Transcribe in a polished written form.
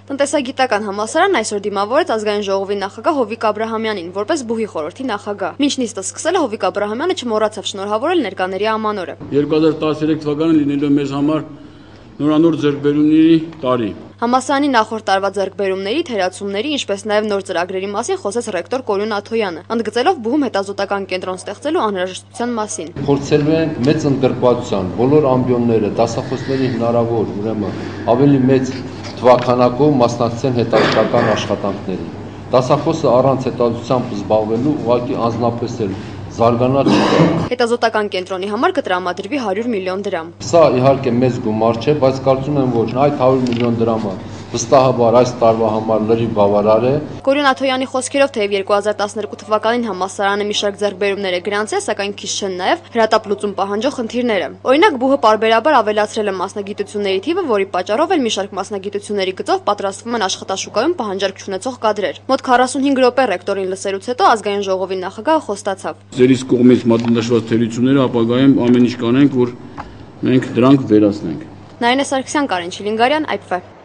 Տնտեսագիտական համալսարանն այսօր դիմավորեց ազգային ժողովի նախագահ Հովիկ Աբրահամյանին, որպես բուհի խորհրդի նախագահ։ Մինչ նիստը սկսել է, Հովիկ Աբրահամյանը չմոռացավ շնորհավորել ներկաների ամանորը։ 2013 թվականը լինելով մեզ համար նորանոր ձեռքբերումների տարի։ Համալսարանի նախորդ տարվա ձեռքբերումների, թերացումների, ինչպես նաև նոր ծրագրերի մասին խոսեց ռեկտոր Կորյուն Աթոյանը, ընդգծելով բուհում հետազոտական կենտրոն ստեղծելու անհրաժեշտության մասին։ Փորձելու են մեծ ընդգրկվածության բոլոր ամբիոնները, դասախոսների հնարավոր, ուրեմն ավելի մեծ թվաքանակով մասնակցեն հետազոտական աշխատանքներին։ Դասախոսը առանց հետազոտությամբ զբաղվելու ուղղակի անձնապես էլ զարգանալ չի։ Հետազոտական կենտրոնի համար կտրամադրվի 100 միլիոն դրամ։ Սա իհարկե մեծ գումար չէ, բայց կարծում եմ, որ այդ 100 միլիոն դրամը վստահաբար այս տարվա համար լրիվ բավարար է։ Կորյուն Աթոյանի խոսքերով, թեև 2012 թվականին համալսարանը մի շարք ձեռքբերումներ է գրանցել, սակայն քիչ չեն նաև հրատապլուծում պահանջող խնդիրները։ Օրինակ, բուհը պարբերաբար ավելացրել է մասնագիտությունների թիվը, որի պատճառով էլ մի շարք մասնագիտությունների գծով պատրաստվում են աշխատաշուկայում պահանջարկ չունեցող կադրեր։ Մոտ 45 րոպե ռեկտորին լսելուց հետո ազգային ժողովի նախագահը խոստացավ։ Ձերից կողմից մատնանշված թերությունները ապագայում ամեն ինչ կանենք, որ մենք դրանք վերացնենք։ Նարինե Սարգսյան, Կարեն Չիլինգարյան, IPV։